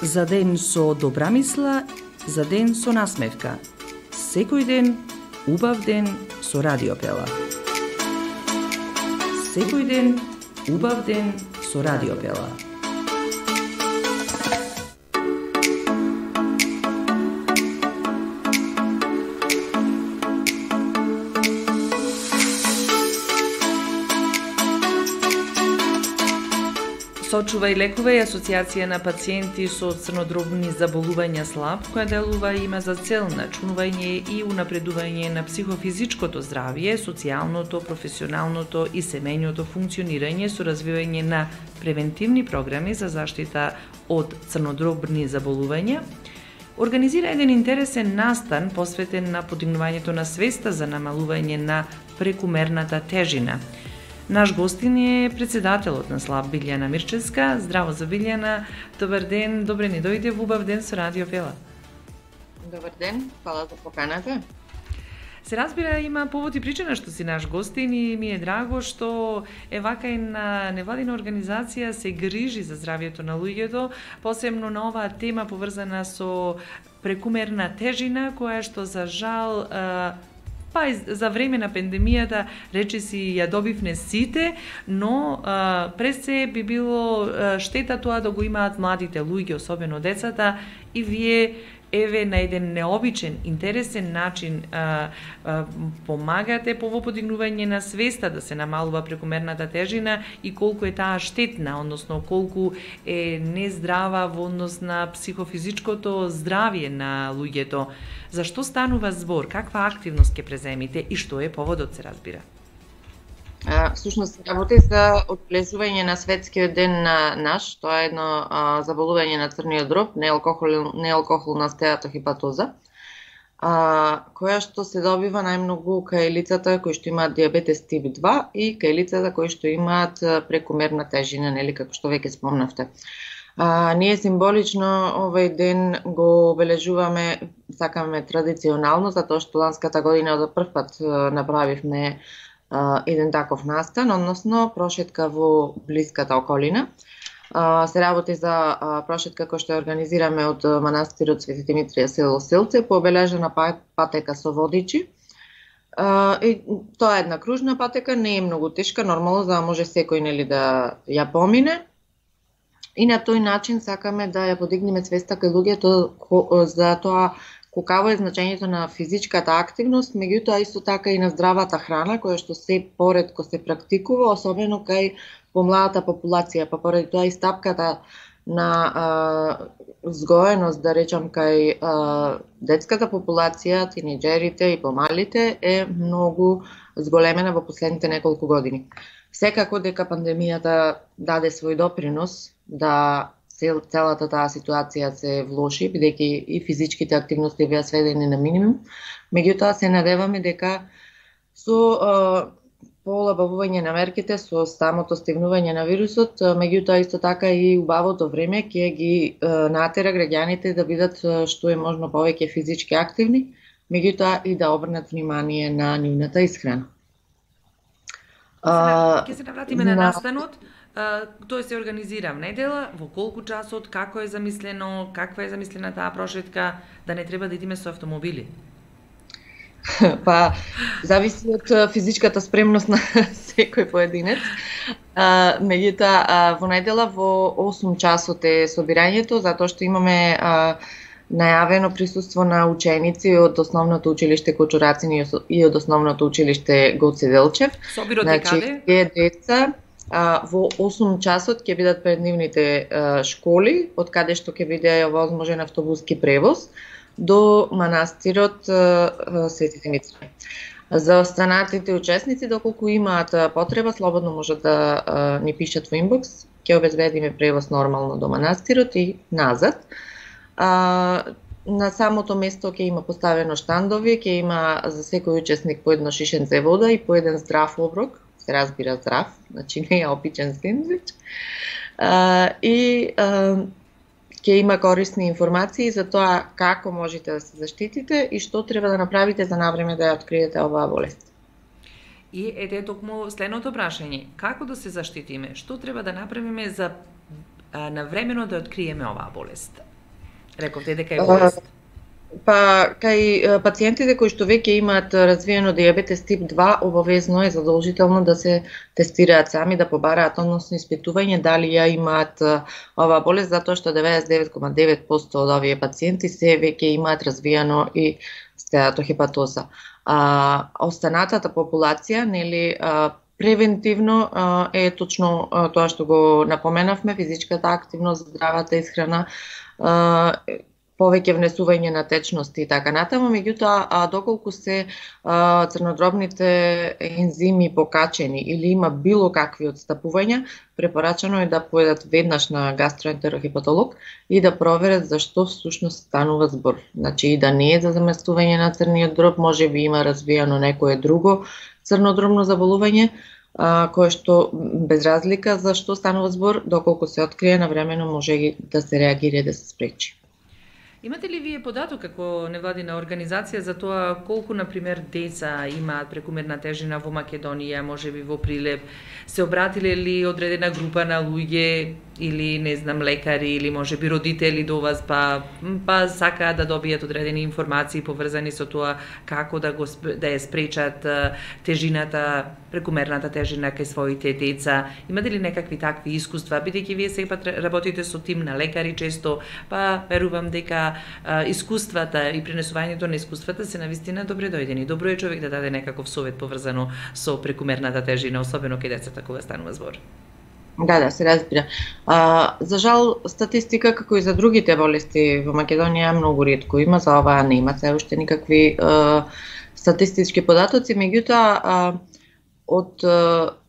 За ден со добра мисла, за ден со насмевка. Секој ден, убав ден со Радиопела. Секој ден, убав ден со Радиопела. Сочува и лекува и Асоциација на пациенти со црнодробни заболувања СЛАП, која делува и има за цел начинување и унапредување на психофизичкото здравје, социјалното, професионалното и семејното функционирање со развивање на превентивни програми за заштита од црнодробни заболувања. Организира еден интересен настан посветен на подигнувањето на свеста за намалување на прекумерната тежина. Наш гостин е председателот на СЛАП Билјана Мирчевска. Здраво за Билјана, добар ден, добре ни дојде во убав ден со Радиопела. Добар ден, фала за поканата. Се разбира, има повод и причина што си наш гостин и ми е драго што вака и на невладина организација се грижи за здравјето на луѓето, посебно на оваа тема поврзана со прекумерна тежина, која што за жал па и за време на пандемијата речиси ја добивне сите, но пред се би било штета тоа да го имаат младите луѓе, особено децата, и вие на еден необичен, интересен начин помагате по подигнување на свеста да се намалува прекумерната тежина и колку е таа штетна, односно колку е нездрава во однос на психофизичкото здравје на луѓето. Зашто станува збор? Каква активност ќе преземите и што е поводот, се разбира? Всушност, работи за одбележување на светскиот ден на наш, тоа е едно заболување на црниот дроб, неалкохолна стеатохепатоза, која што се добива најмногу кај лицата кои што имаат диабетес тип 2 и кај лицата кои што имаат прекумерна тежина, нели, како што веќе спомнавте. Ние символично овој ден го обележуваме, сакаме традиционално, затоа што ланската година за прв пат направивме еден таков настан, односно прошетка во блиската околина. Се работи за прошетка која што ја организираме од манастирот Свети Димитрија село Селце по обележена патека со водичи. И тоа е една кружна патека, не е многу тешка, нормално за да може секој, нели, да ја помине. И на тој начин сакаме да ја подигнеме свеста кај луѓето за тоа колкаво е значењето на физичката активност, меѓутоа исто така и на здравата храна, која што се поретко се практикува, особено кај помладата популација, па поради тоа и стапката на згоеност, да речам, кај детската популација, тинеџерите и помалите е многу зголемена во последните неколку години. Секако дека пандемијата даде свој допринос да целата таа ситуација се влоши, бидејќи и физичките активности беа сведени на минимум. Меѓутоа се надеваме дека со полабавување на мерките, со самото стигнување на вирусот, меѓутоа исто така и убавото време ќе ги натера граѓаните да бидат што е можно повеќе физички активни, меѓутоа и да обрнат внимание на нивната исхрана. Ќе се навратиме на настанот. Тој се организира в недела, во колку часот, како е замислено, каква е замислена таа прошетка, да не треба да идеме со автомобили? Па, зависи од физичката спремност на секој поединец. Меѓутоа, во недела во 8 часот е собирањето, затоа што имаме најавено присуство на ученици од Основното училиште Кочурацин и од Основното училиште Гоце Делчев. Собирот е каде? Деца во 8 часот ќе бидат пред нивните школи, од каде што ќе биде овозможен автобуски превоз до манастирот Свети Димитрија. За останатите учесници, доколку имаат потреба, слободно можат да ни пишат во инбокс, ќе обезбедиме превоз нормално до манастирот и назад. На самото место ќе има поставено штандови, ќе има за секој учесник по едно шишенце вода и по еден здрав оброк, се разбира здрав, значи не е опичен сендвич. И ќе има корисни информации за тоа како можете да се заштитите и што треба да направите за навреме да ја откриете оваа болест. И ете токму следното прашање, како да се заштитиме? Што треба да направиме за навремено да откриеме оваа болест? Рековте дека е болест. Па, кај пациентите кои што веќе имаат развиено дијабетес тип 2, обавезно е задолжително да се тестираат сами, да побараат односно испитување дали ја имаат оваа болест, затоа што 99,9% од овие пациенти се веќе имаат развиено и стеатохепатоза. Останатата популација, нели, превентивно е точно тоа што го напоменавме, физичката активност, здравата исхрана, повеќе внесување на течности и така натаму, меѓутоа доколку се црнодробните ензими покачени или има било какви отстапувања, препорачано е да поедат веднаш на гастроентерохепатолог и да проверат зашто всушност станува збор. Значи и да не е за заместување на црниот дроб, можеби има развиено некое друго црнодробно заболување, кое што без разлика за што станува збор, доколку се открие навремено може да се реагира и да се спречи. Имате ли вие податок како невладина организација за тоа колку, например, деца имаат прекумерна тежина во Македонија, можеби во Прилеп? Се обратиле ли одредена група на луѓе или, не знам, лекари или можеби родители до вас, па сакаат да добијат одредени информации поврзани со тоа како да ја спречат тежината, прекумерната тежина кај своите деца? Имате ли некакви такви искуства, бидејќи вие сега работите со тим на лекари често, па верувам дека искуствата и пренесувањето на искуствата се навистина добре дојдени. Добро е човек да даде некаков совет поврзано со прекумерната тежина, особено кај децата кога станува збор. Да, се разбира. За жал, статистика, како и за другите болести во Македонија, многу ретко има, за ова нема се уште никакви статистички податоци, меѓутоа од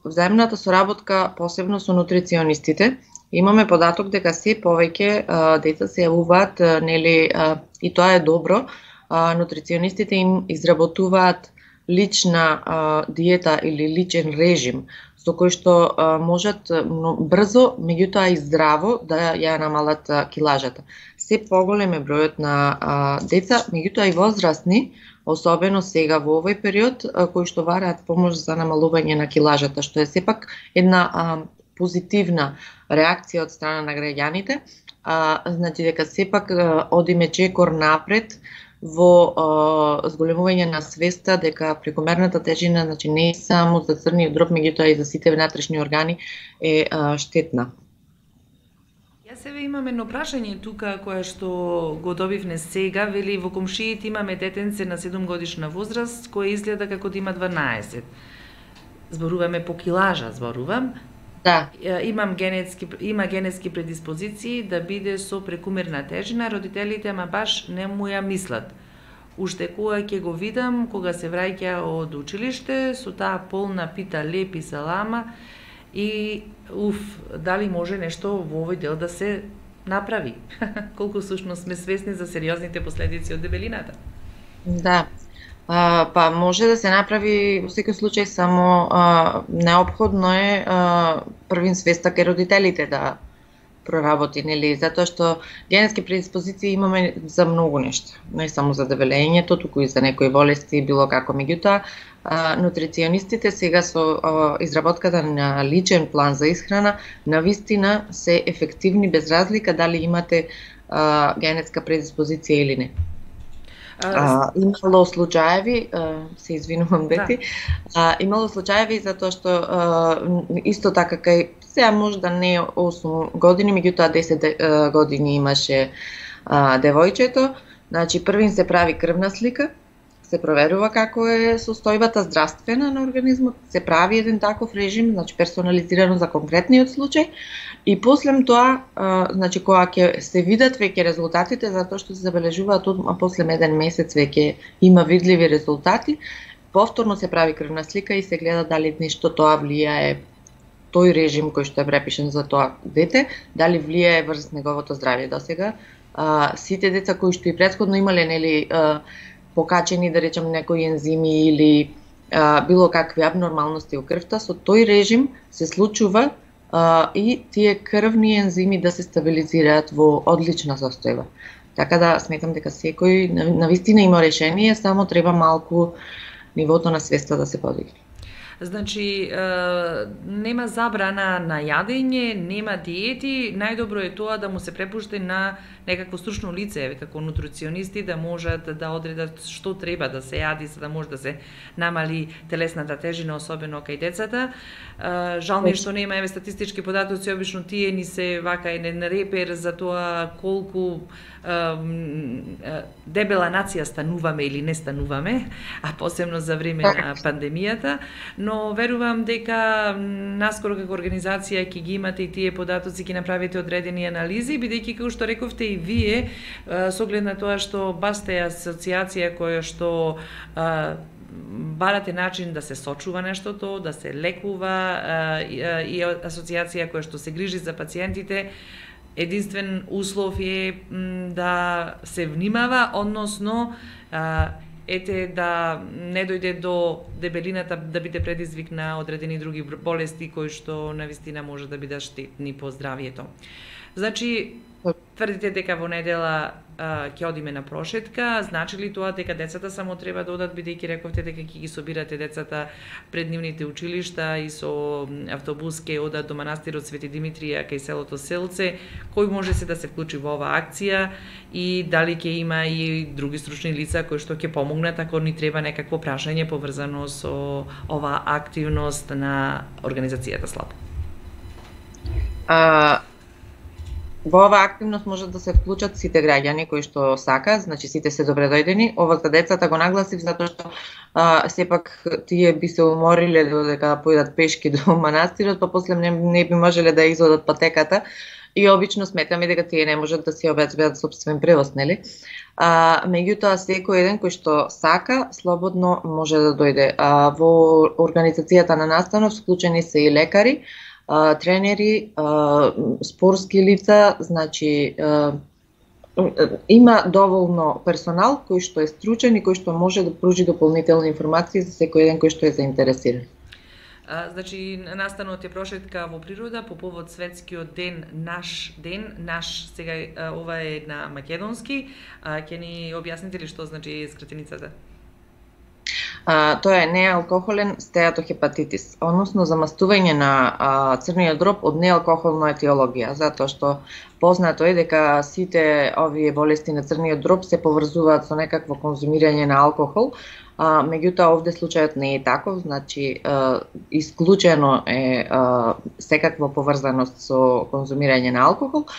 взаимната соработка, посебно со нутриционистите, имаме податок дека се повеќе деца се јавуваат, нели, и тоа е добро, нутриционистите им изработуваат лична диета или личен режим, со кој што можат брзо, меѓутоа и здраво да ја намалат килажата. Се поголем е бројот на деца, меѓутоа и возрастни, особено сега во овој период, кои што бараат помош за намалување на килажата, што е сепак една позитивна реакција од страна на граѓаните, значи дека сепак одиме чекор напред во зголемување на свеста дека прекомерната тежина, значи не само за црниот дроб, меѓутоа и за сите внатрешни органи е штетна. Јас себе имам едно прашање тука кое што го добивме сега, вели во комшиите имаме детенце на 7 годишна возраст кој изгледа како да има 12. Зборуваме по килажа, зборувам. Да. Има генетски предиспозиции да биде со прекумерна тежина, родителите ама баш не му ја мислат. Уште кога ќе го видам, кога се враќа од училиште, со таа полна пита леп и салама и дали може нешто во овој дел да се направи? Колку всушност сме свесни за сериозните последици од дебелината? Да. Па може да се направи во секој случај, само неопходно е првин свеста кај родителите да проработи, нели, затоа што генетски предиспозиции имаме за многу нешта, не само за дебелењето, туку и за некои болести, било како. Меѓутоа, нутриционистите сега со изработката на личен план за исхрана навистина се ефективни без разлика дали имате генетска предиспозиција или не. Имало случаеви, се извинувам Бети, имало случаеви затоа што исто така кај сега може да не 8 години, меѓутоа 10 години имаше девојчето, значи првин се прави крвна слика, се проверува како е состојбата здравствена на организмот, се прави еден таков режим, значи персонализирано за конкретниот случај, и после тоа, значи кога ќе се видат веќе резултатите, затоа што се забележуваат после еден месец веќе има видливи резултати, повторно се прави крвна слика и се гледа дали нешто тоа влијае, тој режим кој што е препишен за тоа дете, дали влијае врз неговото здравје. Досега сите деца кои што и претходно имале, нели, покачени, да речем, некои ензими или било какви абнормалности во крвта, со тој режим се случува и тие крвни ензими да се стабилизираат во одлична состојба. Така да сметам дека секој навистина има решение, само треба малку нивото на свеста да се подигне. Значи, нема забрана на јадење, нема диети, најдобро е тоа да му се препушти на некакво стручно лице, како нутриционисти, да можат да одредат што треба да се јади, за да може да се намали телесната тежина, особено кај децата. Жал ми е што нема статистички податоци, обично тие ни се вака еден репер за тоа колку дебела нација стануваме или не стануваме, а посебно за време на пандемијата, но верувам дека наскоро како организација ќе ги имате и тие податоци, ќе направите одредени анализи, бидејќи како што рековте и вие, со оглед на тоа што баш сте асоциација која што барате начин да се сочува нештото, да се лекува, и асоциација која што се грижи за пациентите, единствен услов е да се внимава, односно да не дојде до дебелината да биде предизвик на одредени други болести кои што навистина може да бидат штетни по здравието. Значи, тврдите дека во недела ќе одиме на прошетка, значи ли тоа дека децата само треба да одат, бидејќи рековте дека ќе ги собирате децата пред нивните училишта и со автобус ќе одат до манастирот Свети Димитрија кај селото Селце, кој може се да се вклучи во оваа акција и дали ќе има и други стручни лица кои што ќе помогнат ако ни треба некакво прашање поврзано со оваа активност на организацијата СЛАП? Во оваа активност можат да се вклучат сите граѓани кои што сакаат, значи сите се добредојдени. Ова за децата го нагласив затоа што сепак тие би се умориле додека појдат пешки до манастирот, па после не би можеле да изодат патеката и обично сметаме дека тие не можат да си обезбедат сопствен превоз, нели? Меѓутоа секој еден кој што сака слободно може да дојде. Во организацијата на настанов вклучени се и лекари, тренери, спортски лица, значи има доволно персонал кој што е стручен и кој што може да пружи дополнителни информации за секој еден кој што е заинтересиран. Значи, настанот е прошетка во природа по повод светскиот ден, наш, сега ова е на македонски, ќе ни објасните ли што значи скратеницата? Тоа е неалкохолен стеатохепатитис, односно замастување на црниот дроб од неалкохолна етиологија, затоа што познато е дека сите овие болести на црниот дроб се поврзуваат со некакво конзумирање на алкохол, меѓутоа овде случајот не е таков, значи исклучено е секаква поврзаност со конзумирање на алкохол,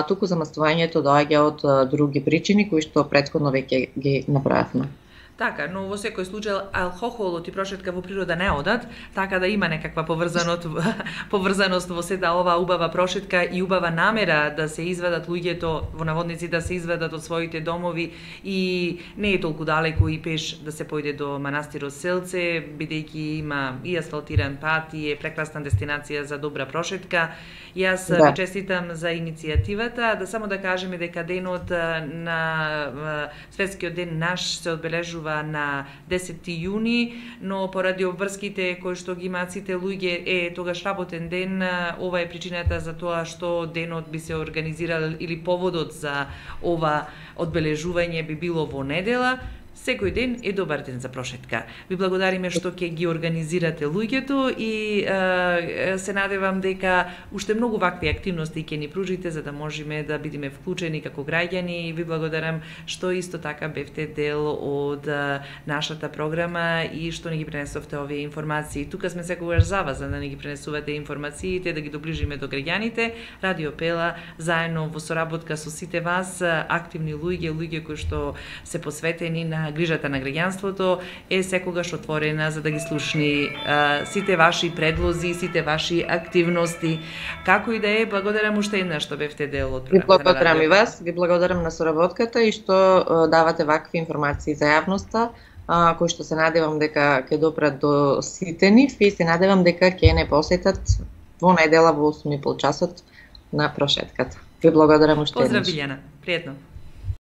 туку замастувањето доаѓа од други причини кои што претходно веќе ги направивме. Така, но во секој случај алкохолот и прошетка во природа не одат, така да има некаква поврзаност во сета оваа убава прошетка и убава намера да се извадат луѓето, во наводници да се извадат од своите домови и не е толку далеку и пеш да се појде до манастирот Селце, бидејќи има и асфалтиран пат и е прекрасна дестинација за добра прошетка. Јас ви честитам за иницијативата, да само да кажеме дека денот на светскиот ден наш се одбележува на 10 јуни, но поради обврските кои што ги имаат сите луѓе тогаш работен ден, ова е причината за тоа што денот би се организирал или поводот за ова одбележување би било во недела. Секој ден е добар ден за прошетка. Ви благодариме што ќе ги организирате луѓето и се надевам дека уште многу вакви активности ќе ни пружите за да можеме да бидеме вклучени како граѓани и ви благодарам што исто така бевте дел од нашата програма и што ни ги пренесовте овие информации. Тука сме секогаш за вас, за да ни ги пренесувате информациите, да ги доближиме до граѓаните. Радио Пела заедно во соработка со сите вас, активни луѓе кои што се посветени на грижата на граѓанството, е секогаш отворена за да ги слушни сите ваши предлози, сите ваши активности. Како и да е, благодарам уште еднаш што бевте дел од програмата. Ви благодарам и вас, ви благодарам на соработката и што давате вакви информации за јавноста, кои што се надевам дека ќе допрат до сите нив и се надевам дека ќе не посетат во недела во 8:30 часот на прошетката. Ви благодарам уште еднаш. Поздрав, Билјана. Пријатно.